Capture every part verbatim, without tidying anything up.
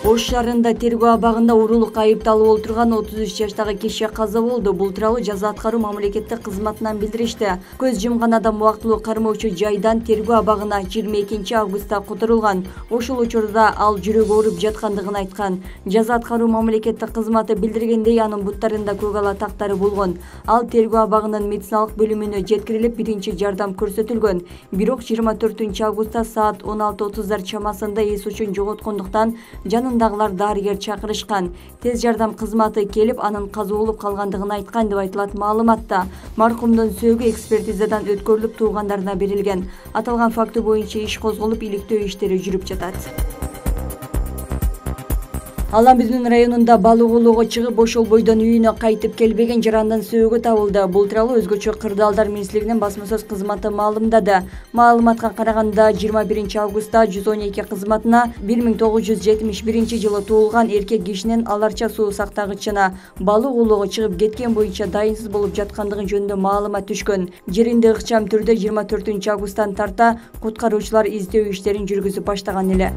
Ош шаарында тергөө абагында уурулукка айыпталып отурган отуз үч жаштагы киши каза болду. Бул тууралуу жаза аткаруу мамлекеттик кызматынан билдиришти. Көз жумган адам убактылуу кармоочу жайдан тергөө абагына жыйырма экинчи августта которулган. Ошол учурда ал жүрөгү ооруп жаткандыгын айткан. Жаза аткаруу мамлекеттик кызматы билдиргендей, анын буттарында көк ала тактары болгон. Ал тергөө абагынын медициналык бөлүмүнө жеткирилип, биринчи жардам көрсөтүлгөн. Бирок жыйырма төртүнчү августта саат он алты отуздар чамасында эс учун жоготкондуктан жанындагылар дарыгер чакырышкан. Тез жардам кызматы келип, анын каза болуп калгандыгын айткан деп айтылат маалыматта. Маркумдун сөөгү экспертизадан өткөрүлүп туугандарына берилген. Аталган факты боюнча иш козголуп, иликтөө иштери жүрүп жатат. Аламбүздүн районунда балык оолоого чыгып, ошол бойдон үйүнө кайтып келбеген жарандын сөөгү табылды. Бул тууралуу Өзгөчө кырдаалдар министрлигинин басма сөз кызматы маалымдады. Маалыматка караганда, жыйырма биринчи августта жүз он эки кызматына бир миң тогуз жүз жетимиш биринчи жылы туулган эркек кишинин аларча суу сактагычына балык оолоого чыгып кеткен боюнча дайынсыз болуп жаткандыгы жөнүндө маалымат түшкөн. Жеринде ыкчам түрдө жыйырма төртүнчү августтан тарта куткаруучулар издөө иштерин жүргүзүп баштаган эле.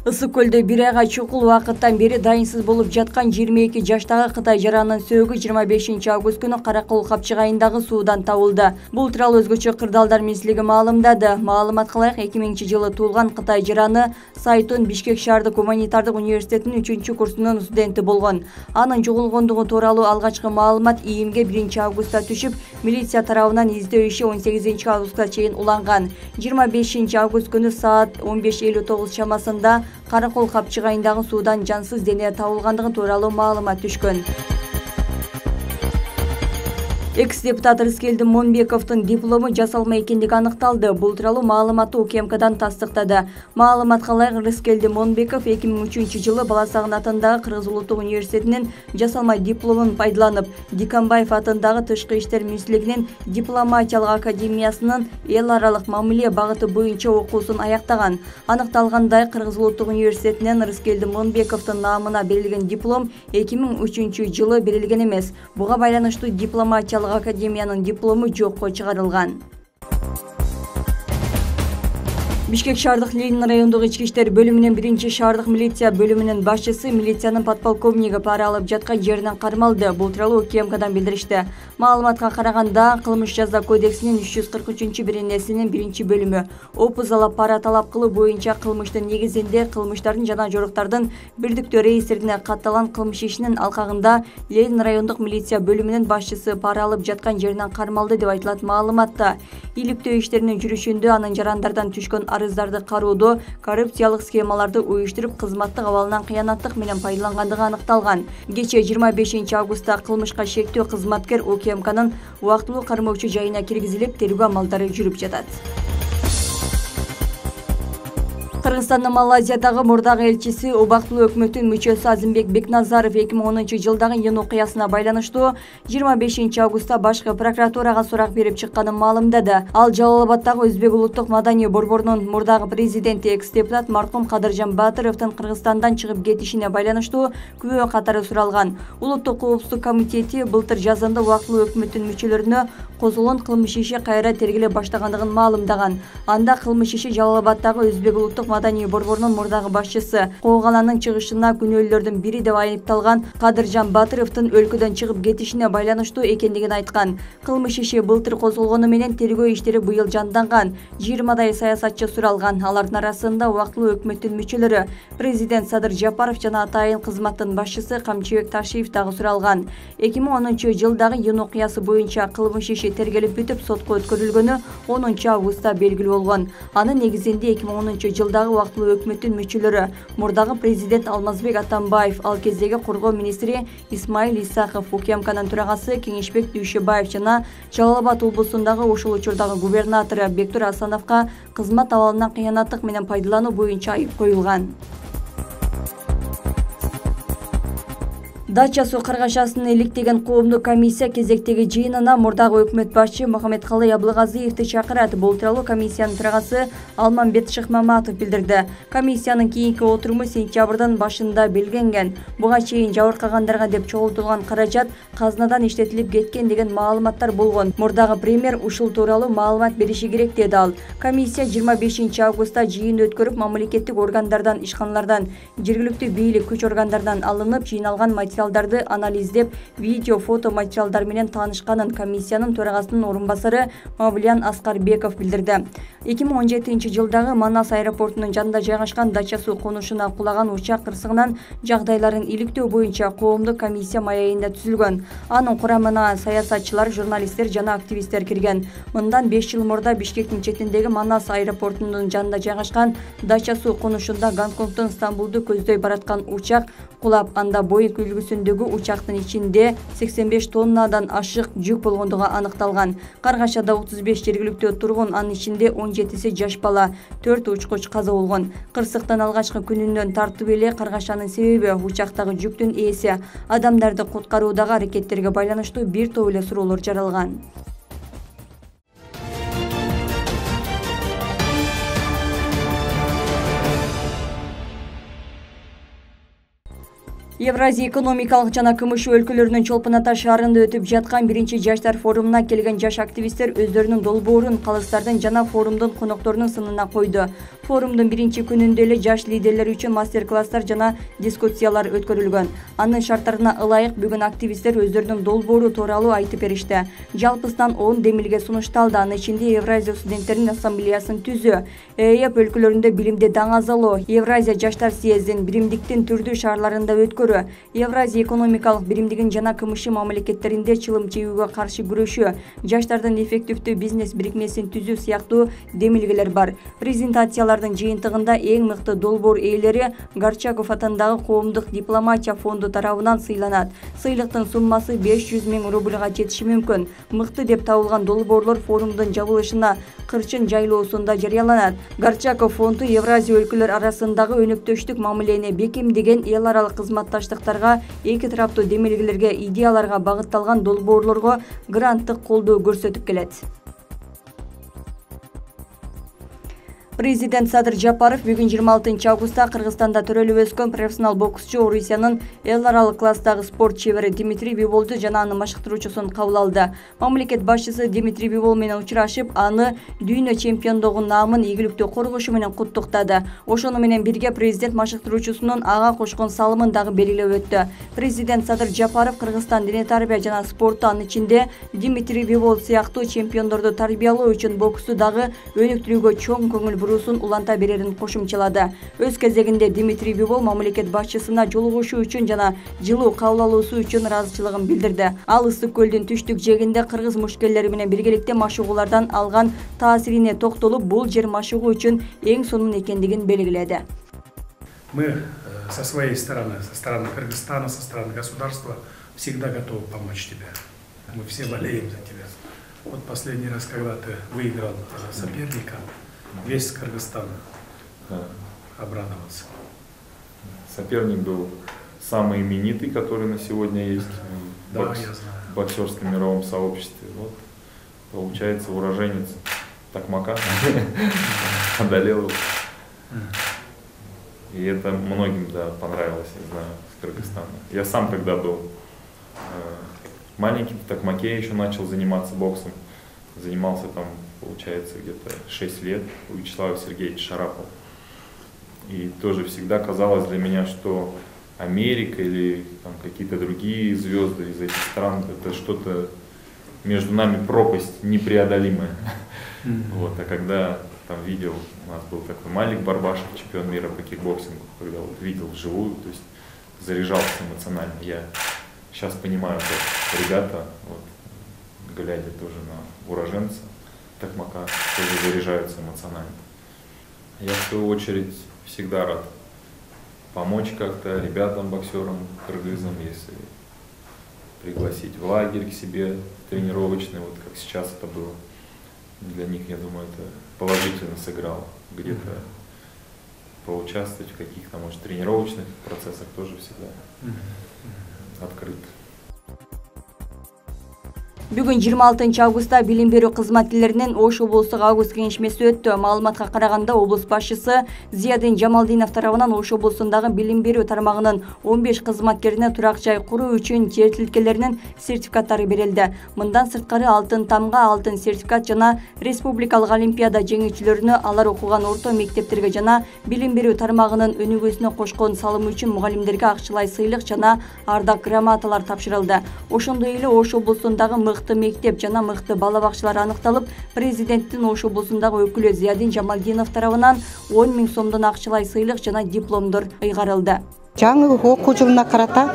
Ысык көлдө бир айга чукул убакыттан бери дайынсыз болуп жаткан жыйырма эки жаштагы Кытай жаранынын сөөгү жыйырма бешинчи август күнү Каракол капчыгайындагы суудан табылды. Бул тууралуу Өзгөчө кырдаалдар министрлиги маалымдады. Маалыматка ылайык, эки миңинчи жылы туулган Кытай жараны Сайтун Бишкек шаардык гуманитардык университетинин үчүнчү курсунун студенти болгон. Анын жоголгондугу тууралуу алгачкы маалымат ИИМге биринчи августта түшүп, милиция тарабынан издөө иши он сегизинчи августка чейин уланган. жыйырма бешинчи август күнү саат он беш элүү тогуз чамасында Каракол капчыгайындагы суудан жансыз дене табылгандыгы тууралуу маалымат түшкөн. Экс-депутат Рыскелди Монбековдун диплому жасалма экендиги аныкталды. Бул тууралуу маалыматты УКМКдан тастыктады. Маалыматка ылайык, Рыскелди Монбеков эки миң үчүнчү жылы Баласагын атындагы Кыргыз Улуттук университетинин жасалма дипломун пайдаланып, Диканбаев атындагы Тышкы иштер министрлигинин дипломатиялык академиясынын эл аралык мамиле багыты боюнча окуусун аяктаган. Аныкталгандай, Кыргыз Улуттук университетинен Рыскелди Монбековдун наамына берилген диплом эки миң үчүнчү жылы берилген эмес. Буга байланыштуу дипломатиялык академиянын диплому жокко чыгарылган. Бишкек шаардык Ленин райондук ички иштер бөлүмүнүн биринчи шаардык милиция бөлүмүнүн башчысы милициянын подполковниги пара алып жаткан жеринен кармалды. Бул тууралуу УКМКдан билдиришти. Маалыматка караганда, кылмыш жаза кодексинин үч жүз кырк үчүнчү беренесинин биринчи бөлүмү опузалап пара талап кылуу боюнча кылмыштын негизинде кылмыштардын жана жоруктардын бирдиктүү реестрине катталган кылмыш ишинин алкагында Ленин райондук милиция бөлүмүнүн башчысы пара алып жаткан жеринен кармалды деп айтылат маалыматта. Иликтөө иштеринин жүрүшүндө анын жарандардан түшкөн арыздарды кароодо коррупциялык схемаларды уюштуруп, кызматтык абалынан кыянаттык менен пайдалангандыгы аныкталган. Кечээ жыйырма бешинчи августта кылмышка шектүү кызматкер УКМКнын убактылуу кармоочу жайына киргизилип, тергөө амалдары жүрүп жатат. Кыргызстандын Малайзиядагы мурдагы элчиси, убактылуу өкмөттүн мүчөсү Азимбек Бекназаров эки миң онунчу жылдагы июнь окуясына байланыштуу жыйырма бешинчи августта башкы прокуратурага сурак берип чыкканын маалымдады. Ал Жалал Абаддагы Өзбек улуттук маданий борборунун мурдагы президенти, экс-депутат маркум Кадыржан Батыровдун Кыргызстандан чыгып кетишине байланыштуу күбө катары суралган. Улуттук коопсуздук комитети былтыр жазында убактылуу өкмөттүн мүчөлөрүнө козголгон кылмыш иши кайра тергеле баштагандыгын маалымдаган. Анда кылмыш иши Жалал Абаддагы Өзбек улуттук маданий борборунун мурдагы башчысы Коогаланын чыгышына күнөөлөрдүн бири деп айыпталган Кадыржан Батыровдун өлкөдөн чыгып кетишине байланыштуу экендигин айткан. Кылмыш иши былтыр козголгону менен тергөө иштери быйыл жанданган. жыйырмадай саясатчы суралган. Алардын арасында убактылуу өкмөттүн мүчөлөрү, президент Садыр Жапаров жана атайын кызматтын башчысы Камчыбек Ташиев дагы суралган. эки миң онунчу жылдагы июнь окуясы боюнча кылмыш иши тергелип бүтүп, сотко өткөрүлгөнү онунчу августта белгилүү болгон. Анын негизинде эки миң онунчу жылдагы убактылуу өкмөттүн мүчөлөрү, мурдагы президент Алмазбек Атамбаев, ал кездеги коргоо министри Исмаил Исаков, УКМКнын төрагасы Кеңешбек Дүйшөбаев жана Жалал Абад облусундагы ошол учурдагы губернатору Бектур Асановго кызмат абалынан кыянаттык менен пайдалануу боюнча айып коюлган. Дача суу каргашасын иликтеген коомдук комиссия кезектеги жыйынына мурдагы өкмөт башчы Мухаммедкалый Абылгазиевди чакырат. Бул тууралуу комиссиянын төрагасы Алмамбет Шыкмаматов билдирди. Комиссиянын кийинки отуруму сентябрдын башында белгиленген. Буга чейин жабыркагандарга деп чогултулган каражат казнадан иштетилип кеткен деген маалыматтар болгон. Мурдагы премьер ушул тууралуу маалымат бериши керек деди ал. Комиссия жыйырма бешинчи августта жыйын өткөрүп, мамлекеттик органдардан, ишканалардан, жергиликтүү бийлик күч органдарынан алынып жыйналган материалдарды анализдеп, видео, фото материалдар менен таанышканын комиссиянын төрагасынын орун басары Мавлиян Аскарбеков билдирди. эки миң он жетинчи жылдагы Манас аэропортунун жанында жайгашкан Дача суу конушуна кулаган учак кырсыгынан жагдайларын иликтөө боюнча коомдук комиссия маегинде түзүлгөн. Анын курамына саясатчылар, журналисттер жана активисттер кирген. Мындан беш жыл мурда Бишкектин четиндеги Манас аэропортунун жанында жайгашкан Дача суу конушунда Гонконгдон Стамбулду көздөй бараткан учак кулап, анда Боинг үлгүсүндөгү учактын ичинде сексен беш тоннадан ашык жүк болгондугу аныкталган. Каргашада отуз беш жергиликтүү тургун, анын ичинде он жетиси жаш бала, төрт учкуч каза болгон. Кырсыктын алгачкы күнүнөн тартып эле каргашанын себеби учактагы жүктүн ээси, адамдарды куткаруудагы аракеттерге байланыштуу бир топ эле суроолор жаралган. Евразия экономикалык жана КМШ өлкөлөрүнүн Чолпон Ата шаарында өтүп жаткан биринчи жаштар форумуна келген жаш активисттер өздөрүнүн долбоорун калыстардын жана форумдун конокторунун сынына койду. Форумдун биринчи күнүндө эле жаш лидерлер үчүн мастер-класстар жана дискуссиялар өткөрүлгөн. Анын шарттарына ылайык бүгүн активисттер өздөрүнүн долбоору тууралуу айтып беришти. Жалпысынан он демилге сунушталды. Анын ичинде Евразия студенттеринин ассамблеясын түзүү, ЭЭП өлкөлөрүндө билимди даңазалоо, Евразия жаштар съездин биримдиктин түрдүү шаарларында өткөрүү, Евразия экономикалык биримдигин жана КМШ мамлекеттеринде чылым чегүүгө каршы күрөшүү, жаштардын эффективдүү бизнес бирикмесин түзүү сыяктуу демилгелер бар. Презентациялардын жыйынтыгында эң мыкты долбоор ээлери Горчаков атындагы коомдук дипломатия фонду тарабынан сыйланат. Сыйлыктын суммасы беш жүз миң рубльга жетиши мүмкүн. Мыкты деп табылган долбоорлор форумдун жабылышына кырчын жайлоосунда жарыяланат. Горчаков фонду Евразия өлкөлөр арасындагы өнөктөштүк мамилени бекемдеген эл аралык кызматташтыктарга, эки тараптуу демилгелерге, идеяларга багытталган долбоорлорго гранттык колдоо көрсөтүп келет. Президент Садыр Жапаров бүгүн жыйырма алтынчы августта Кыргызстанда төрөлүп өскөн профессионал боксчу, Орусиянын эл аралык класстагы спорт чебери Дмитрий Биболду жана анын машыктыруучусун кабыл алды. Мамлекет башчысы Дмитрий Бибол менен учурашып, аны дүйнө чемпиондугу наамын ийгиликтүү коргошу менен куттуктады. Ошону менен бирге президент машыктыруучусунун ага кошкон салымын дагы белгилеп өттү. Президент Садыр Жапаров Кыргызстан дене тарбия жана спортту, анын ичинде Дмитрий Бибол сыяктуу чемпиондорду тарбиялоо үчүн боксту дагы өнүктүрүүгө чоң көңүл бурусун уланта берерин кошумчалады. Өз кезегинде Дмитрий Бибол мамлекет башчысына жолугушуу үчүн жана жылуу кабыл алуусу үчүн ыраазычылыгын билдирди. Ал Ысык көлдүн түштүк жээгинде кыргыз мушкерлери менен биргеликте машыгуулардан алган таасирине токтолуп, бул жер машыгуу үчүн эң сонун экендигин белгиледи. Мы со своей стороны, со стороны Кыргызстана, со стороны государства всегда готовы помочь тебе. Мы все болеем за тебя. Вот последний раз, когда ты выиграл соперника, весь Кыргызстан да. обрадовался. Соперник был самый именитый, который на сегодня есть да, в, бокс, в боксерском мировом сообществе. Вот, получается, уроженец Токмака одолел его. И это многим да, понравилось, я знаю, с Кыргызстана. Я сам когда был маленький, в Токмаке еще начал заниматься боксом. Занимался там, получается, где-то шесть лет у Вячеслава Сергеевича Шарапова. И тоже всегда казалось для меня, что Америка или какие-то другие звезды из этих стран, это что-то между нами пропасть непреодолимая. Mm-hmm. Вот, а когда там видел, у нас был такой Малик Барбашев, чемпион мира по кикбоксингу, когда вот видел вживую, то есть заряжался эмоционально. Я сейчас понимаю, как ребята, вот, глядя тоже на уроженца Токмака, тоже заряжаются эмоционально. Я в свою очередь всегда рад помочь как-то ребятам, боксерам, кыргызам, если пригласить в лагерь к себе тренировочный, вот как сейчас это было. Для них, я думаю, это положительно сыграло. Где-то поучаствовать в каких-то, может, тренировочных процессах тоже всегда открыт. Бүгүн жыйырма алтынчы августта билим берүү кызматкерлеринин Ош облустук август кеңешмеси өттү. Маалыматка караганда облус башчысы Зиядин Жамалдинов тарабынан Ош облусундагы билим берүү тармагынын он беш кызматкерине турак жай куруу үчүн жер тилкелеринин сертификаттары берилди. Мындан сырткары алтын тамга, алтын сертификат жана республикалык олимпиада жеңүүчүлөрүнө алар окуган орто мектептерге жана билим берүү тармагынын өнүгүүсүнө кошкон салымы үчүн мугалимдерге акчалай сыйлык жана ардак грамоталар тапшырылды. Ошондой эле Ош облусундагы мыкты мектеп жана мыкты бала бакчалар аныкталып, президенттин Ош облусундагы өкүлү Зиядин Жамалдинов тарабынан он миң сомдон акчалай сыйлык жана дипломдор ыйгарылды. Жаңы окуу жылына карата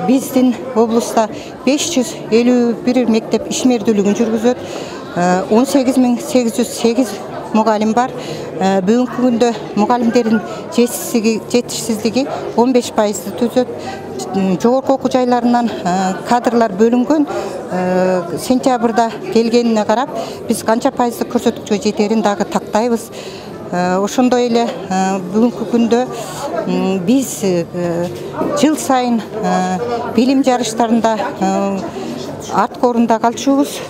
биздин облуста беш жүз элүү бир мектеп ишмердүүлүгүн жүргүзөт. он сегиз миң сегиз жүз сегиз мугалим бар. Бүгүнкү күндө мугалимдердин жетишсиздиги он беш пайызды түзөт. Жогорку окуу жайларынан кадрлар бөлүнгөн. Сентябрда келгенине карап, биз канча пайыздык көрсөткүчкө жетерин дагы тактайбыз. Ошондой эле бүгүнкү күндө биз жыл сайын билим жарыштарында артка орунда калчубуз.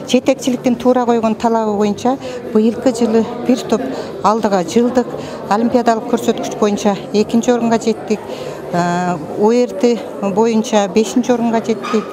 Жетекчиликтин туура койгон талабы боюнча быйылкы жылы бир топ алдыга жылдык, олимпиадалык көрсөткүч боюнча экинчи орунга жеттик. О Р Т боюнча бешинчи орунга жеттик.